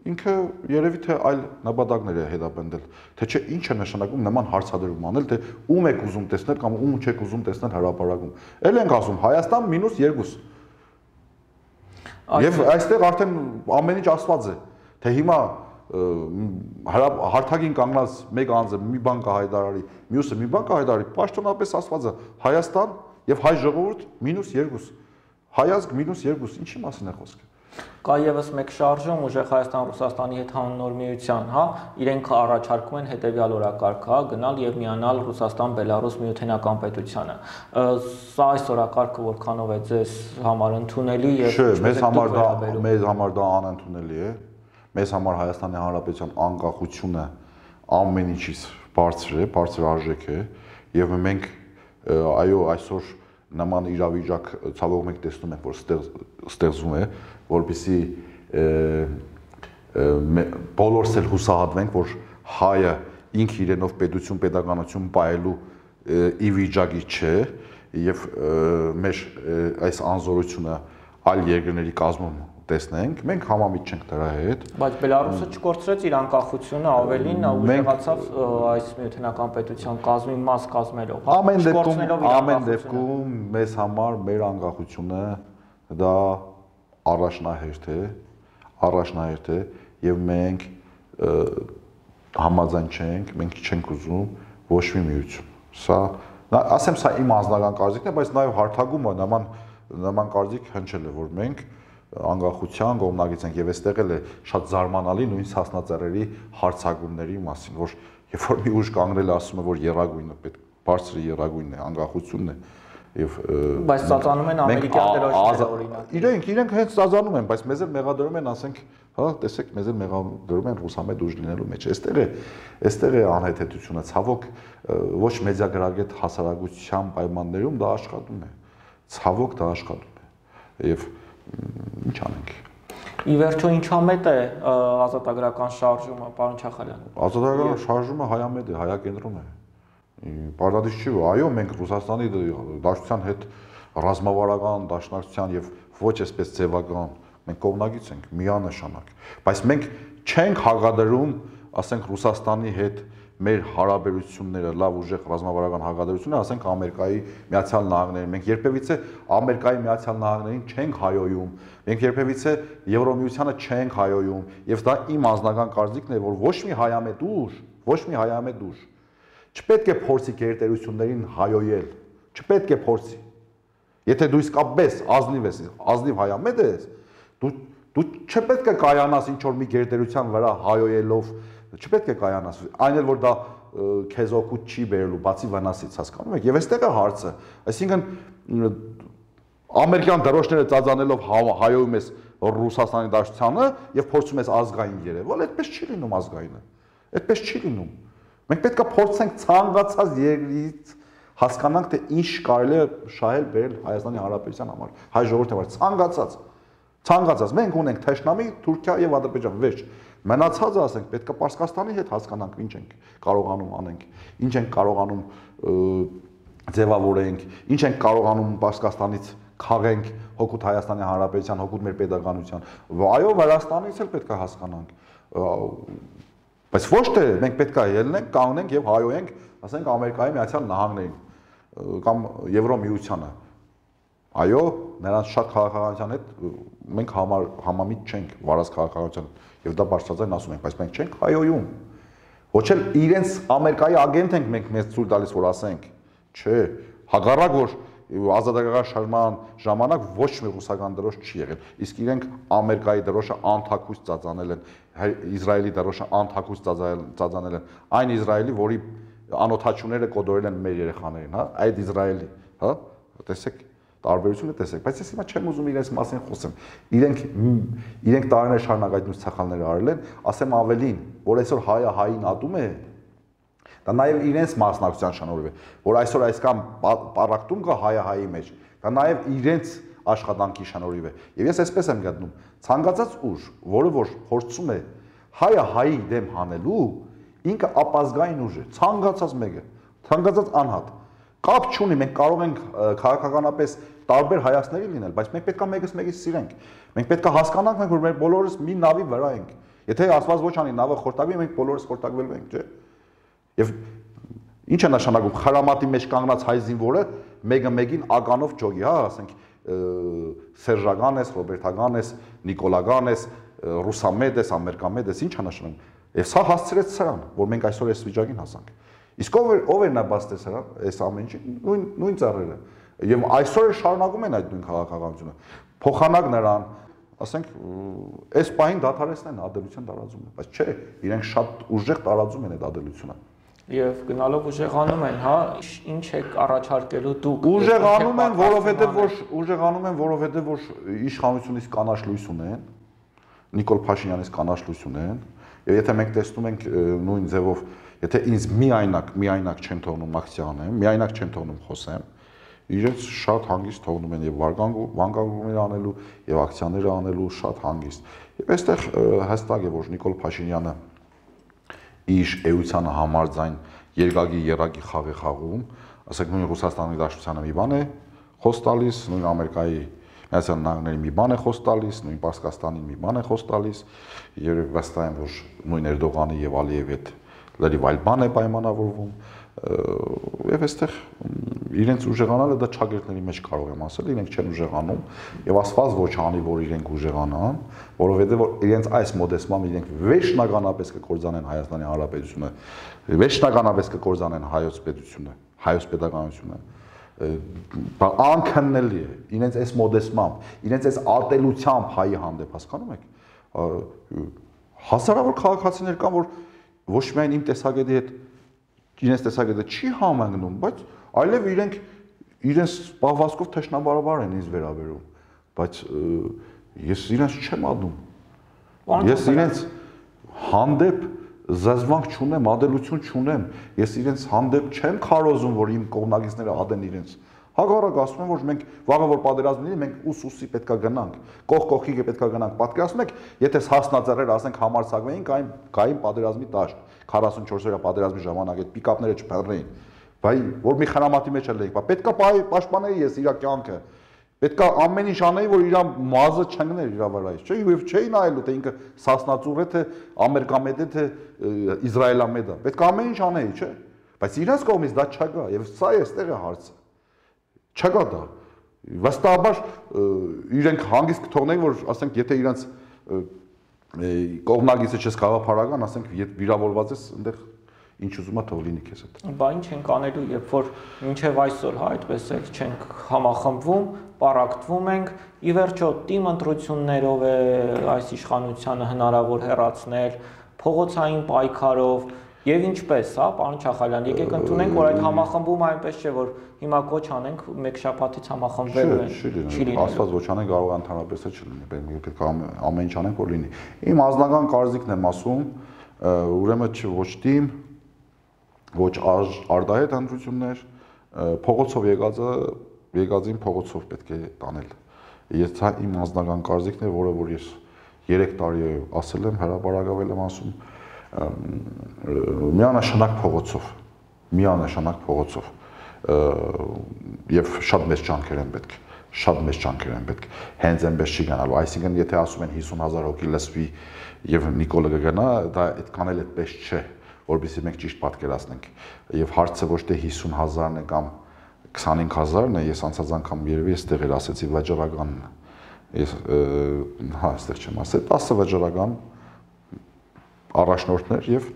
ինքը երևի թե այլ նպատակներ է հետապնդել, թե չէ ինչ է նշանակում նման հարցադրում անել, թե ում եք ուզում տեսնել կամ ում չեք ուզում տեսնել հրապարակում։ Էլ ենք ասում Հայաստան -2։ Եվ այստեղ արդեն ամեն ինչ ասված է, թե հիմա հարթակին կանգնած մեկ անձը մի բան կհայտարարի, մյուսը մի բան կհայտարարի, պաշտոնապես ասված է Հայաստան եւ հայ ժողովուրդ -2, հայազգ -2, ինչի մասին է խոսքը։ Կա եւս մեկ շարժում ուժեղ Հայաստան-Ռուսաստանի հետ հանուն միության, հա, իրենք առաջարկում են հետեւյալ օրակարգ, հա, գնալ եւ միանալ Ռուսաստան-Բելարուս միութենական պետությանը։ Սա այս օրակարգը որքանով է ձեզ համար ընդունելի եւ մեզ համար դա անընդունելի է։ Մեզ համար Հայաստանի Հանրապետության անկախությունը ամեն ինչից բարձր է, բարձր արժեք է եւ մենք այո այսօր նման իրավիճակ ցավոք մենք տեսնում ենք, որ ստեղծվում է, որպեսզի բոլորս էլ հուսահատվենք, որ հայը ինքը իրենով պետություն, պետականություն պահելու ի վիճակի չէ եւ մեր այս անզորությունը այլ երկրների կազմում տեսնենք, մենք համամիտ չենք դրա հետ։ Բայց Բելարուսը չկորցրեց իր անկախությունը, ավելին ուժեղացավ այս միութենական պետության կազմի մաս կազմելով։ Ամեն դեպքում մեզ համար մեր անկախությունը դա առաջնահերթ է եւ մենք համաձայն չենք, մենք չենք ուզում ոչ մի միություն։ Սա ասեմ սա իմ անձնական կարծիքն է, բայց նաեւ հարթակումը նման կարծիք հնչել է, որ մենք անկախության կողմնակից ենք եւ այստեղ էլ է շատ զարմանալի նույն հասնածառերի հարցակումների մասին, որ երբ որ մի ուժ կանգնել ասում է, որ երագույնը պետք բարձր երագույնն է, անկախությունն է եւ բայց ծածանում են ամերիկյան դրոշները օրինակ։ Իրենք հենց ծածանում են, բայց մեզ էլ մեղադրում են, ասենք, հա, տեսեք, մեզ էլ մեղադրում են ռուսամետ ուժ լինելու մեջ։ Այստեղ է անհեթեթությունը, ցավոք ոչ մեդիագրագետ հասարակության պայմաններում դա աշխատում է։ Ցավոք դա աշխատում է։ Եվ ինչ անենք։ Ի վերջո ինչամետ է ազատագրական շարժումը, պարոն Չախալյան։ Ազատագրական շարժումը հայամետ է, հայակենտրոն է։ Պարտադիր չի, այո, մենք Ռուսաստանի Դաշնության հետ ռազմավարական դաշնակցության եւ ոչ այսպես ձևական մենք կողմնակից ենք միանշանակ, բայց մենք չենք հաղադրում, ասենք Ռուսաստանի հետ մեր հարաբերությունները, լավ ուժեղ ռազմավարական հաղորդությունները, ասենք Ամերիկայի Միացյալ Նահանգներին, մենք երբևիցե Ամերիկայի Միացյալ Նահանգներին չենք հայոյում, մենք երբևիցե Եվրոմիությանը չենք հայոյում, եւ դա իմ անձնական կարծիքն է, որ ոչ մի հայամետ ուժ չպետք է փորձի գերտերություններին հայոյել, չպետք է փորձի։ Եթե դու իսկապես ազնիվ հայամետ ես, դու չպետք է կայանաս ինչ որ մի գերտերության վրա հայոյելով, չպետք է կայանաս, այն էլ որ դա քեզ օգուտ չի բերելու, բացի վնասից, հասկանում եք։ Եվ այստեղ է հարցը, այսինքն ամերիկյան դրոշները ծածանելով հայոյում ես Ռուսաստանի Դաշնությանը եւ փորձում ես ազգային երևալ, այդպես չի լինում ազգայինը։ Այդպես չի լինում։ Մենք պետք է փորձենք ցանկացած երկրից հասկանանք, թե ինչ կարելի է շահել բերել Հայաստանի Հանրապետության համար, հայ ժողովրդի համար, ցանկացած։ Մենք ունենք Թեշնամի, Թուրքիա եւ Ադրբեջան, վերջ։ Մնացածը ասենք, պետք է Պարսկաստանի հետ հասկանանք ինչ ենք կարողանում անենք, ինչ ենք կարողանում ձևավորենք, ինչ ենք կարողանում Պարսկաստանից քաղենք հօգուտ Հայաստանի Հանրապետության, հօգուտ մեր պետականության։ Այո, Վրաստանից էլ պետք է հասկանանք։ Բայց ոչ թե մենք պետք է ելնենք, կանգնենք եւ հայոյենք, ասենք Ամերիկայի Միացյալ Նահանգներին կամ Եվրոմիությանը։ Այո, նրանց շատ քաղաքականության հետ մենք համամիտ չենք, վարած քաղաքականության, եւ դա բարձրաձայն ասում ենք, բայց մենք չենք հայոյում։ Ոչ էլ իրենց Ամերիկայի ագենտ ենք մենք մեզ ցույց տալիս, որ ասենք, չէ, հակառակ որ ազատագրական շարժման ժամանակ ոչ մի ռուսական դրոշ չի եղել, իսկ իրենք Ամերիկայի դրոշը անթակույց ծածանել են, Իսրայելի դրոշը անթակույց ծածանել են, այն Իսրայելի, որի անօթաչուները կոդորել են մեր երեխաներին, հա, այդ Իսրայելի, հա, տեսեք, տարբերությունը տեսեք, բայց ես հիմա չեմ ուզում իրենց մասին խոսեմ։ Իրենք տարիներ շարունակ այդ նույն ցախալները արել են, ասեմ ավելին, որ այսօր հայը հային ատում է, դա նաև իրենց մասնակցության շնորհիվ է, որ այսօր այսքան պարակտում կա հայը հայի մեջ, դա նաև իրենց աշխատանքի շնորհիվ է։ Եվ ես այսպես եմ գտնում, ցանկացած ուժ, որը որ փորձում է հայը հայի դեմ հանելու, ինքը ապազգային ուժ է, ցանկացած մեկը, ցանկացած անհատ։ Կապ չունի, մենք կարող ենք քաղաքականապես տարբեր հայացքների լինել, բայց մենք պետք է մեկս մեկից սիրենք։ Մենք պետք է հասկանանք, որ մենք բոլորս մի նավի վրա ենք։ Եթե ասված ոչ անի նավը խորտակվի, մենք բոլորս խորտակվելու ենք, չէ՞։ Եվ ինչ է նշանակում խրամատի մեջ կանգնած հայ զինվորը մեկը մեկին ականով ջոգի, հա, ասենք սերժական ես, ռոբերտական ես, նիկոլական ես, ռուսամետ ես, ամերիկամետ ես, ինչ է նշանակում։ Եվ սա հասցրեց սրան, որ մենք այսօր այս վիճակին հասանք։ Իսկ ով էր նա բացտես հրա, այս ամեն ինչի, նույն ծառերը։ Եվ այսօր շարունակում են այդ նույն քաղաքականությունը։ Փոխանակ նրան, ասենք, այս պահին դադարեցնեն ադելության տարածումը, բայց չէ, իրենք շատ ուժեղ տարածում են այդ ադելությունը։ Եվ գնալով ուժեղանում են, հա, ինչ եք առաջարկելու դուք։ Ուժեղանում են, որովհետև որ իշխանությունից կանաչ լույս ունեն, Նիկոլ Փաշինյանից կանաչ լույս ունեն, եւ եթե մենք տեսնում ենք նույն ձևով, եթե ինձ միայնակ չեն թողնում ակցիա անեմ, միայնակ չեն թողնում խոսեմ, իրենց շատ հանգիստ թողնում են եւ վանկանգումներ անելու եւ ակցիաներ անելու շատ հանգիստ։ Եվ այստեղ հստակ է, որ Նիկոլ Փաշինյանը իր էությանը համարձայն երկակի երակի խաղ է խաղում, ասենք նույն Ռուսաստանի Դաշնությանը մի բան է խոս տալիս, նույն Ամերիկայի Միացյալ Նահանգների մի բան է խոս տալիս, նույն Պարսկաստանի մի բան է խոս տալիս, եւ վստահ եմ, որ նույն Էրդողանի եւ Ալիևի հետ լրիվ այլ բան է պայմանավորվում, եւ այստեղ իրենց ուժեղանալը դա ճագերտների մեջ կարող եմ ասել, իրենք չեն ուժեղանում եւ ասված ոչ անի, որ իրենք ուժեղանան, որովհետեւ որ իրենց այս մոդեսմամբ իրենք վերջնականապես կկործանեն Հայաստանի Հանրապետությունը, վերջնականապես կկործանեն հայոց պետությունը, հայոց պետականությունը անքննելի է իրենց այս մոդեսմամբ, իրենց այս ատելությամբ հայի հանդեպ, հասկանում եք։ Հազարավոր քաղաքացիներ կան, որ ոչ միայն իմ տեսակետի հետ իրենց տեսակետը չի համընկնում, բայց այլև իրենց պահվածքով թշնամաբար են ինձ վերաբերում, բայց ես իրենց չեմ ադում։ Ես իրենց հանդեպ զզվանք չունեմ, ադելություն չունեմ, ես իրենց հանդեպ չեմ քարոզում, որ իմ կողմնակիցները ադեն իրենց։ Հակառակ ասում եմ, որ մենք վաղը որ պատերազմ լինի, մենք ուսուսի պետքա գնանք, կողքի պետքա գնանք։ Պատկերացնում եք, եթե հասնաձեռեր, ասենք համարձակվեին, գային պատերազմի տաշտ, 44-օրյա պատերազմի ժամանակ այդ պիկապները չփռեին։ Բայ որ մի խնամատի մեջ էինք, պետքա պաշտպանեի ես իր կյանքը։ Պետք է ամեն ինչ անեի, որ իր մազը չընկներ իր վրայից, չէ՞, եւ չէի նայելու, թե ինքը սասնածուր է, թե ամերիկամետ է, թե իսրայելամետ է։ Պետք է ամեն ինչ անեի, չէ՞։ Բայց իրենց կողմից դա չկա, եւ սա է այստեղ է հարցը։ Չկա դա։ Վստահաբար իրենք հանգիստ կթողնեին, որ ասենք, եթե իրենց կողմնակիցը չես գաղափարական, ասենք, վիրավորված ես, այնտեղ ինչ ուզում է թող լինի քեզ հետ։ Բա ինչ ենք անելու, երբ որ մինչև այսօր այդպես էլ չենք համախմբվում, պարակտվում ենք, ի վերջո թիմ ընտրություններով է այս իշխանությանը հնարավոր հեռացնել, փողոցային պայքարով եւ ինչպես, հա, պարոն Չախալյան, եկեք ընդունենք, որ այդ համախմբումը այնպես չէ, որ հիմա կոչ անենք մեկ շաբաթից համախմբվելու են։ Չի լինի։ Աստված ոչ անենք, կարող է ընդհանրապես չլինի, պետք է ամեն ինչ անենք, որ լինի։ Իմ ազնական կարծիքն եմ ասում, ուրեմն ոչ թիմ, ոչ արդահետ ընտրություններ, փողոցով եկածին փողոցով պետք է տանել։ Ես իմ անձնական կարծիքն է, որը որ ես 3 տարի ասել եմ, հրապարակավել եմ ասում, միանշանակ փողոցով եւ շատ մեծ ջանքեր են պետք, հենց այնպես չի գնալու, այսինքն եթե ասում են 50,000 հոգի լսվի եւ Նիկոլը կգնա, դա այդքան էլ այդպես չէ, որովհետեւ մենք ճիշտ պատկերացնենք եւ հարցը ոչ թե 50,000-ն է կամ 25,000-ն է, ես անցած անգամ երևի այստեղ էր ասեցի վաճառականն, ես հա այստեղ չեմ ասել, 10 վաճառական առաջնորդներ եւ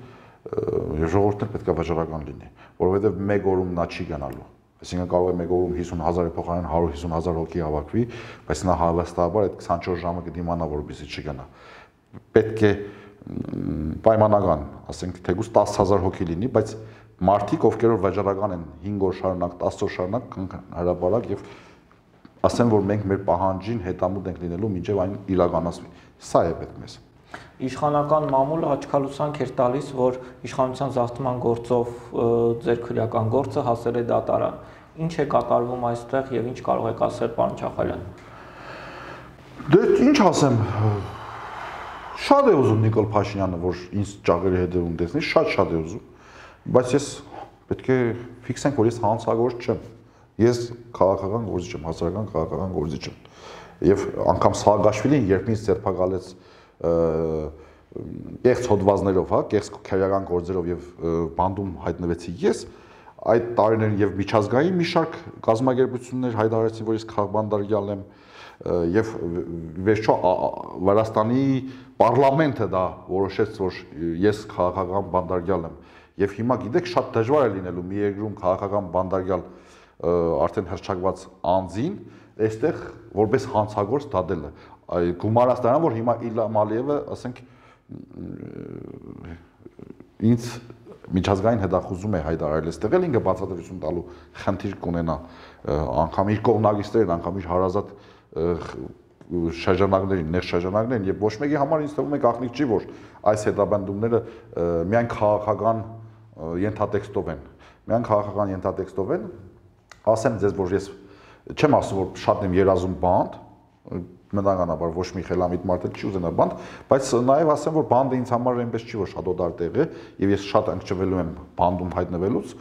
ժողովուրդներ պետք է վաճառական լինի, որովհետեւ մեկ օրում նա չի գնալու, այսինքն կարող է մեկ օրում 50,000-ի փոխարեն 150,000 հոգի հավաքվի, բայց նա հավաստաբար այդ 24 ժամը կդիմանա, որպեսզի չգնա, պետք է պայմանական, ասենք թեկուզ 10,000 հոգի լինի, բայց մարդիկ, ովքեր որ վաճառական են 5 օր շարունակ, 10 օր շարունակ հրապարակ եւ ասեն, որ մենք մեր պահանջին հետամուտ ենք լինելու, մինչեւ այն իրականացվի։ Սա է պետք մեզ։ Իշխանական մամուլը աչքալուսանք էր տալիս, որ իշխանության զավթման գործով ձեր քրեական գործը հասել է դատարան։ Ինչ է կատարվում այստեղ եւ ինչ կարող եք ասել, պարոն Չախալյան։ Դե ինչ ասեմ, շատ է ուզում Նիկոլ Փաշինյանը, որ ինձ ճաղերի հետևում տեսնի, շատ է ուզում, բայց ես պետք է ֆիքսենք, որ ես հանցագործ չեմ։ Ես քաղաքական գործիչ եմ, հասարակական քաղաքական գործիչ եմ։ Եվ անգամ Սաակաշվիլին, երբ ինձ ձերբակալեց կեղծ հոդվածներով, հա, կեղծ քերական գործերով եւ բանդում հայտնվեցի ես, այդ տարիներին եւ միջազգային մի շարք կազմակերպություններ հայտարարեցին, որ ես քաղբանդարգյալ եմ եւ վերջո Վրաստանի պարլամենտը դա որոշեց, որ ես քաղաքական բանդարգյալ եմ եւ հիմա գիտեք շատ դժվար է լինելու մի երկրում քաղաքական բանդարգյալ արդեն հրճակված անձին այստեղ որպես հանցագործ դատելը գումարած դրան որ հիմա Իլհամ Ալիևը ասենք ինձ միջազգային հետախուզում է հայտարարել այստեղ էլ ինքը բացատրություն տալու խնդիր կունենա անգամ իր կողմնակիցներին անգամ իր հարազատ շրջանակներին, նեղ շրջանակներին եւ ոչ մեկի համար ինձ թվում է գաղտնիք չի, որ այս հետապնդումները միայն քաղաքական ենթատեքստով են։ Միայն քաղաքական ենթատեքստով են։ Ասեմ ձեզ, որ ես չեմ ասում, որ շատ եմ երազում բանդ, մտանականաբար ոչ մի խելամիտ մարդ չի ուզենա բանդ, բայց նաեւ ասեմ, որ բանդը ինձ համար այնպես չի, որ շատ օտար տեղ է եւ ես շատ ընկճվելու եմ բանդում հայտնվելուց,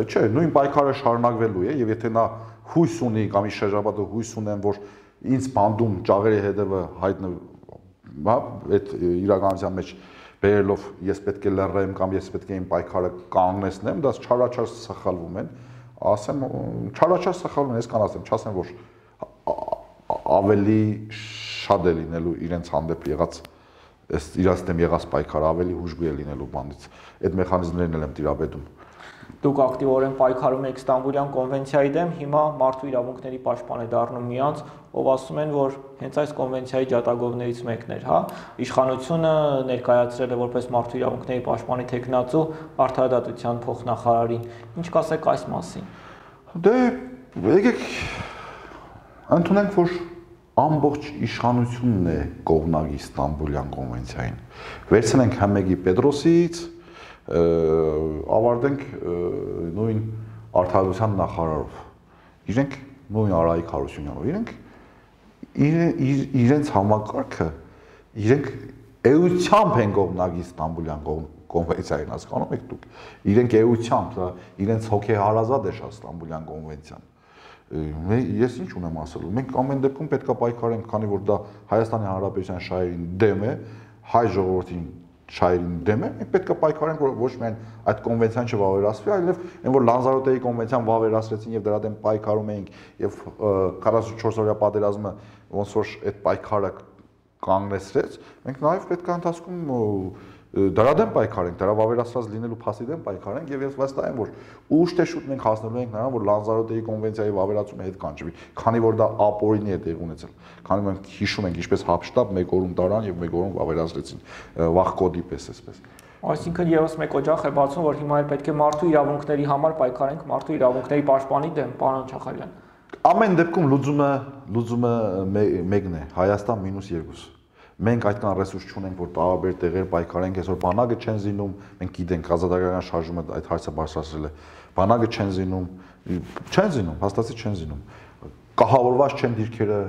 չէ, նույն պայքարը շարունակվելու է եւ եթե նա հույս ունի կամ իր շրջապատը հույս ունեն, որ ինձ բանդում ճաղերի հետևը հայտնվի, հա, այդ իրականության մեջ բերելով ես պետք է լռեմ կամ ես պետք է իմ պայքարը կանգնեցնեմ, դա չարաչար սխալվում են, ասեմ, չարաչար սխալվում են, ես կան ասեմ, չասեմ, որ ավելի շատ է լինելու իրենց հանդեպ եղած, իրաց դեմ եղած պայքարը ավելի հուժգույ է լինելու բանից, այդ մեխանիզմներն էլ եմ տիրապետում։ Դուք ակտիվորեն պայքարում եք Ստամբուլյան կոնվենցիայի դեմ, հիմա մարդու իրավունքների պաշտպան է դառնում մի անձ, ով ասում են, որ հենց այս կոնվենցիայի ջատագովներից մեկն էր, հա, իշխանությունը ներկայացրել է որպես մարդու իրավունքների պաշտպանի թեկնածու արդարադատության փոխնախարարին։ Ինչ կասեք այս մասին։ Դե եկեք ընդունենք, որ ամբողջ իշխանությունն է կողմնակի Ստամբուլյան կոնվենցիային։ Վերցնենք Համեգի Պետրոսից, ավարտենք նույն արդարադատության նախարարով։ Իրենք նույն Արայիկ Հարությունյանով, իրենց համակարգը, իրենք էությամբ են կողմնակի Ստամբուլյան կոնվենցիային, հասկանում եք դուք։ Իրենք էությամբ, իրենց հոգեհարազատ է շատ Ստամբուլյան կոնվենցիան։ Ես ինչ ունեմ ասելու, մենք ամեն դեպքում պետք է պայքարենք, քանի որ դա Հայաստանի Հանրապետության շահերին դեմ է, հայ ժողովրդին շահերին դեմ է, մենք պետք է պայքարենք, որ ոչ միայն այդ կոնվենցիան չվավերացվի, այլև այն որ Լանզարոտեի կոնվենցիան վավերացրեցին եւ դրա դեմ պայքարում էինք եւ 44-օրյա պատերազմը ոնց որ այդ պայքարը կանգնեցրեց, մենք նաեւ պետք է ընթացքում դրա դեմ պայքարենք, դրա վավերացված լինելու փաստի դեմ պայքարենք եւ ես վստահ եմ, որ ուշ թե շուտ մենք հասնելու ենք նրան, որ Լանզարոտեի կոնվենցիայի վավերացումը հետ կանչվի, քանի որ դա ապօրինի է տեղ ունեցել։ Քանի որ մենք հիշում ենք ինչպես Հապշտաբ մեկ օրում տարան եւ մեկ օրում վավերացրեցին վախկոդի պես այսպես։ Այսինքն եւս մեկ օջախ է բացում, որ հիմա էլ պետք է մարդու իրավունքների համար պայքարենք, մարդու իրավունքների պաշտպանի դեմ, պարոն Չախալյան։ Ամեն դեպքում լուծումը մեկն է, Հայաստան -2։ Մենք այդքան ռեսուրս չունենք, որ տարբեր տեղեր պայքարենք, այսօր բանակը չեն զինում, մենք գիտենք ազատագրական շարժումը այդ հարցը բարձրացրել է։ Բանակը չեն զինում, հաստատից չեն զինում։ Կահավորված չեն դիրքերը,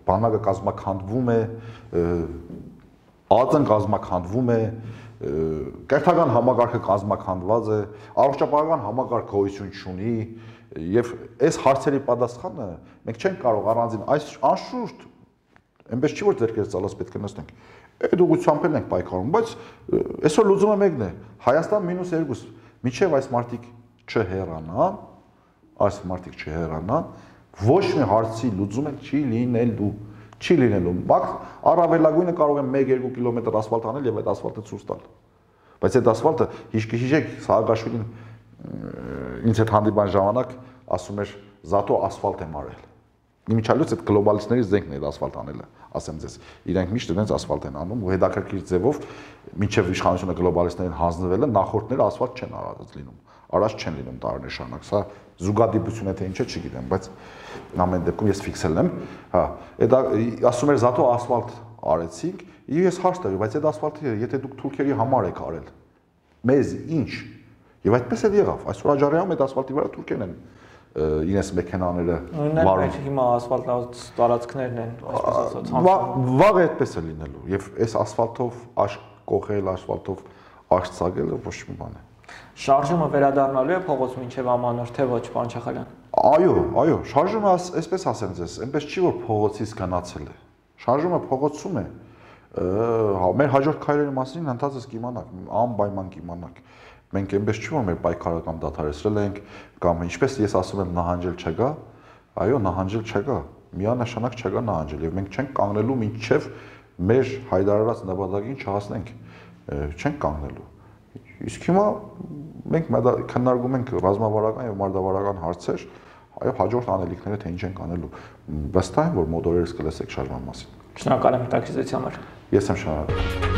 բանակը կազմաքանդվում է, ԱԾ-ն կազմաքանդվում է, կերթական համակարգը կազմաքանդված է, առողջապահական համակարգ գոյություն չունի, եւ այս հարցերի պատասխանը մենք չենք կարող առանձին այս անշուշտ այնպես չի որ ձերքերս ցալած պետք է նստենք։ Այդ ուղղությամբ էլ ենք պայքարում, բայց այսօր լուծումը մեկն է։ Հայաստան -2, միջև այս մարտիկ չհեռանան, ոչ մի հարցի լուծումը չի լինելու։ Բայց առավելագույնը կարող են 1-2 կիլոմետր ասֆալտ անել եւ այդ ասֆալտը ցույց տալ։ Բայց այդ ասֆալտը հիշեք, Սաակաշվիլին ինձ հետ հանդիպան ժամանակ ասում էր «Զատո ասֆալտ եմ արել»։ Իմիջիալից այդ գլոբալիստների զենքն է ասֆալտ անելը, ասեմ ձեզ։ Իրենք միշտ իրենց ասֆալտ են անում ու հետաքրքիր ձևով մինչև իշխանությունը գլոբալիստներին հանձնվելը նախորդները ասֆալտ չեն արած լինում, առաջ չեն լինում տարիներ շարունակ։ Սա զուգադիպություն է թե ինչ է, չգիտեմ, բայց ամեն դեպքում ես ֆիքսել եմ, հա, դա ասում էր «Զատո ասֆալտ արեցինք», եւ ես հարց տվի, բայց այդ ասֆալտը եթե դուք թուրքերի համար եք արել, մեզ ինչ։ Եվ այդպես էլ եղավ։ Այսօր Աջարիանում այդ ասֆալտի վրա թուրքերն են իրենց մեքենաները վարում։ Հիմա ասֆալտած տարածքներն են, այսպես ասած։ Վաղ այդպես է լինելու եւ այս ասֆալտով աշկ կողել, ասֆալտով աշկ ցագելը ոչ մի բան է։ Շարժումը վերադառնալու է փողոց մինչև ամանոր, թե ոչ, պարոն Չախալյան։ Այո, շարժումը այսպես ասեմ ձեզ, այնպես չի որ փողոցից գնացել է։ Շարժումը փողոցում է։ Մեր հաջորդ քայլերի մասին ընդհանրապես կիմանաք, անպայման կիմանաք։ Մենք այնպես չի որ մեր պայքարը կամ դադարեցրել ենք կամ ինչպես ես ասում եմ նահանջել չկա, այո նահանջել չկա, միանշանակ չկա նահանջել եւ մենք չենք կանգնելու մինչեւ մեր հայտարարած նպատակին չհասնենք, չենք կանգնելու։ Իսկ հիմա մենք քննարկում ենք ռազմավարական եւ մարտավարական հարցեր, այո հաջորդ անելիքները թե ինչ ենք անելու։ Վստահ եմ որ մոտ օրերս կլսեք շարժման մասին։ Շնորհակալ եմ հետաքրքրության համար։ Ես եմ շնորհակալ։